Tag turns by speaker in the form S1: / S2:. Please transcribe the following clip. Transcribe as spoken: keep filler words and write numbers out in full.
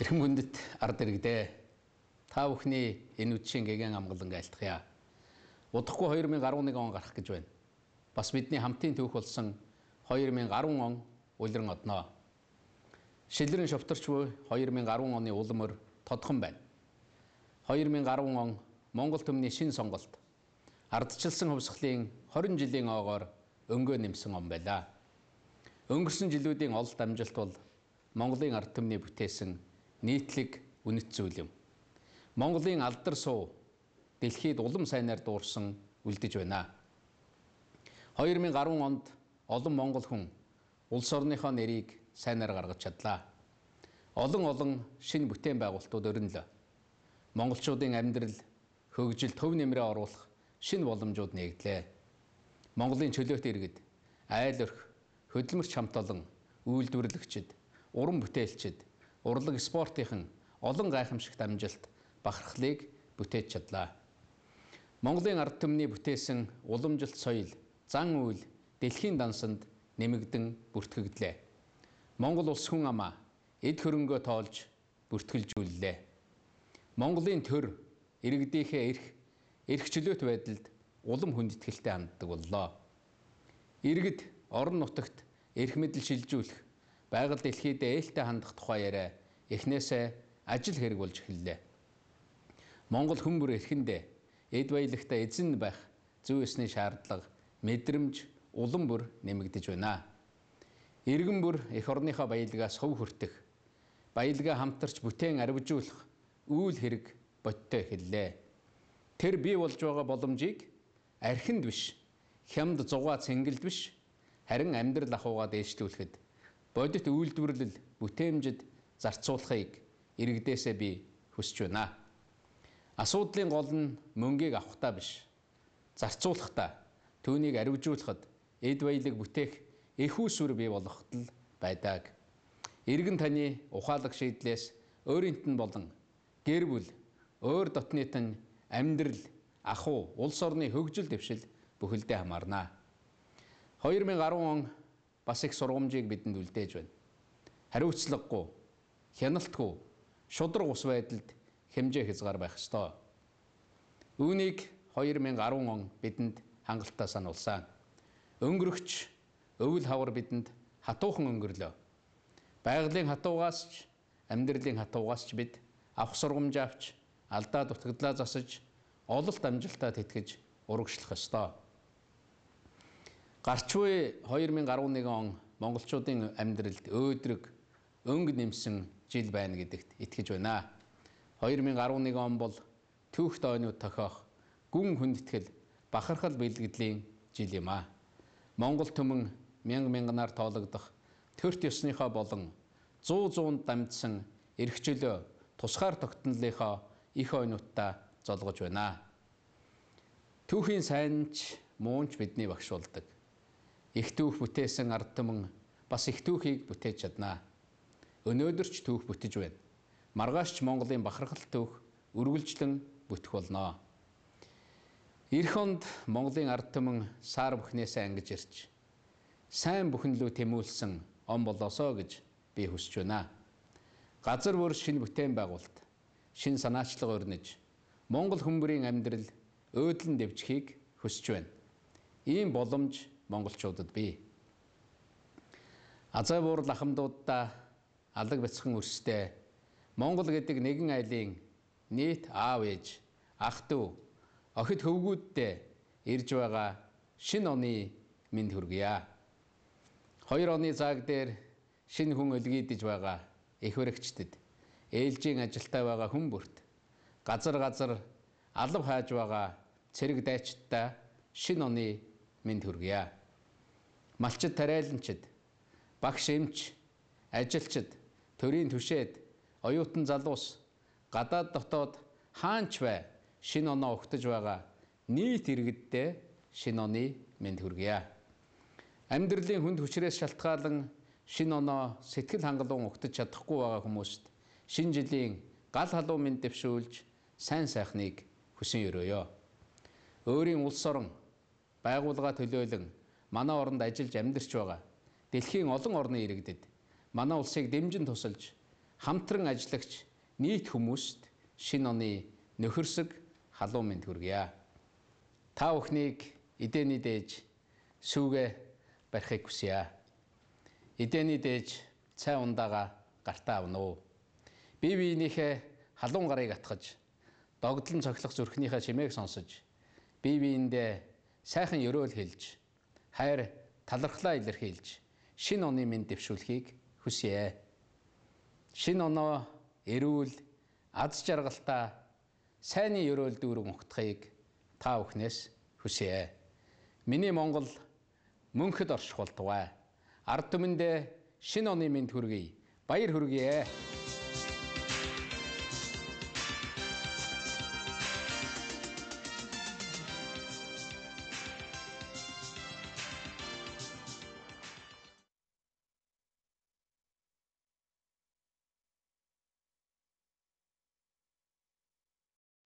S1: Эрхэм хүндэт ард иргэдээ та бүхний энэ үдшийн гэгэн амгалан айлтгая. Удахгүй хоёр мың арван нэг он гарах гэж байна. Бас бидний хамтын түүх болсон хоёр мың арван он улиран одноо. Шилрэн шовторч буй хоёр мың арван оны улмөр тодхон байна. хоёр мың арван он Монгол төмний шин сонголт ардчилсан хувьсгалын хорин жилийн оогоор өнгөө нэмсэн он байлаа. Өнгөрсөн жилүүдийн олд амжилт бол Монголын ард түмний бүтээсэн нийтлэг үнэт зүйл юм. Монголын алдар суу дэлхийд улам сайнаар дуурсан үлдэж байна. хоёр мың арван онд олон монгол хүн улс орныхоо нэрийг сайнаар гаргаж чадлаа. Олон олон шинэ бүтээн байгуулалтууд өрнөлөө. Монголчуудын амьдрал хөгжил төв нэмрээ оруулах шинэ боломжууд нээгдлээ. Монголын чөлөөт иргэд, айл орхи, хөдөлмөрч хамт олон үйлдвэрлэгчид, уран бүтээлчид, урлаг спортынхан олон гайхамшигт амжилт бахархлыг бүтээж чадлаа. Монголын ард түмний бүтээсэн уламжилт соёл, зан үйл дэлхийн дансанд нэмэгдэн бүртгэгдлээ. Монгол улс хүн амаа эд хөрөнгөө тоолж бүртгэлжүүллээ. Монголын төр иргэдийнхээ эрх, эрх чөлөөт байдалд улам хүндэтгэлтэй ханддаг боллоо. Иргэд орон нутагт эрх мэдэл шилжүүлэх, байгаль дэлхийд ээлтэй хандах тухай яриа эхнээсээ ажил хэрэг болж эхэллээ. Монгол хүн бүр эрхэндээ эд баялагтай эзэн байх зөв ёсны шаардлага, мэдрэмж улам бүр нэмэгдэж байна. Иргэн бүр эх орныхоо баялгаас хөв хүртэх, баялгаа хамтарч бүтээн арвижуулах үйл хэрэг бодтой эхэллээ. Тэр бий болж байгаа боломжийг архинд биш, хямд зугаа цэнгэлд биш, харин амьдрал ахуйгаа дээшлүүлэхэд бодит үйлдвэрлэл бүтээмжид зарцуулахыг иргэдээсээ би хүсэж байна. Асуудлын гол нь мөнгийг авахтаа биш, зарцуулахдаа, түүнийг арвижуулахад эд баялаг бүтээх их усүр бий болгоход л байдаг. Иргэн таны ухаалаг шийдлээс өөрийнт нь болон гэр бүл, өөр дотныт нь амьдрал, ахуй, улс орны хөгжил дэвшил бүхэлдээ хамаарна. хоёр мың арван он бас их сургамжийг бидэнд үлдээж байна. Хариуцлагагүй, хяналтгүй, шудраг ус байдалд хэмжээ хязгаар байх ёстой. Үүнийг хоёр мың арван он бидэнд хангалттай сануулсан. Өнгөрөгч өвөл хавар бидэнд хатуухан өнгөрлөө. Байгалийн хатуугаас ч, амьдралын хатуугаас ч бид авах сургамж авч, алдаа дутагдлаа засаж, ололт амжилтаа тэтгэж урагшлах ёстой. Гарч буй хоёр мың арван нэг он монголчуудын амьдралд өөдрөг, өнгө нэмсэн жил байна гэдэгт итгэж байна. хоёр мың арван нэг он бол түүх дойнууд тохиох, гүн хүндэтгэл, бахархал бэлгэдлийн жил юм а. Монгол түмэн мянга мянганаар тоологдох, төрт ёсныхоо болон зуу зуунд дамжсан эрх чөлөө, тусгаар тогтнолынхоо их ойнуудаа золгож байна. Түүхийн сайнч, муунч бидний багш болдог. Их түүх бүтээсэн ард түмэн бас их түүхийг бүтээж чаднаа. Өнөөдөр ч түүх бүтэж байна. Маргааш ч Монголын бахархал түүх үргэлжлэн бүтэх болно. Ирэх онд Монголын ард түмэн сар бүхнээсээ ангиж ирж, сайн бүхнлүү тэмүүлсэн он болоосоо гэж би хүсэж байна. Газар бүр шинэ бүтээн байгуулалт, шинэ санаачлага өрнөж, Монгол хүмүүрийн амьдрал өөдлөн дэвжихийг хүсэж байна. Ийм боломж монголчуудад бий. Азай буурал ахмадуудаа алаг бяцхан өрстэй Монгол гэдэг нэгэн айлын нийт аав ээж, ах дүү, охид хөвгүүддээ ирж байгаа шинэ оны мэнд хүргье. Хоёр оны зааг дээр шинэ хүн өлгийдэж байгаа их баригчдад, ээлжийн ажилтай байгаа хүн бүрт, газар газар алав хайж байгаа цэрэг дайчдаа шинэ оны мэнд хүргье. Малчид тариаланчид, багш эмч, ажилчид, төрийн түшээд, оюутан залуус, гадаад дотоод хаанч бай шинэ оноо өгтөж байгаа нийт иргэддээ шинэ оны мэнд хүргье. Амьдралын хүнд хүчрээс шалтгаалan шинэ оноо сэтгэл хангалуун өгтөж чадахгүй байгаа хүмүүст шинэ жилийн гал халуун мэнд дэвшүүлж сайн сайхныг хүсэн өрөөё. Өөрийн улс орон, байгууллага төлөөлөн манай оронд ажиллаж амьдарч байгаа дэлхийн олон орны иргэдэд манай улсыг дэмжин тусалж хамтран ажиллагч нийт хүмүүст шинэ оны нөхөрсөг халуун мэнд хүргье. Та бүхнийг эдээний дээж сүүгээ барихыг хүсье. Эдээний дээж цай ундаага гартаа авна уу. Бие биенийхээ халуун гарыг атгаж, догдлон цохилох зүрхнийхээ чимээг сонсож, бие биендээ сайхан ёроол хэлж, хайр талархлаа илэрхийлж, шинэ оны мэнд дэвшүүлэхийг хүсье. Шинэ оноо эрүүл, аз жаргалтай, сайнны ёроол дүүрэн ухтахыг та бүхнээс хүсье. Миний Монгол мөнхөд оршихултугай. Ард түмэндээ шинэ оны мэнд хүргэе. Баяр хүргэе.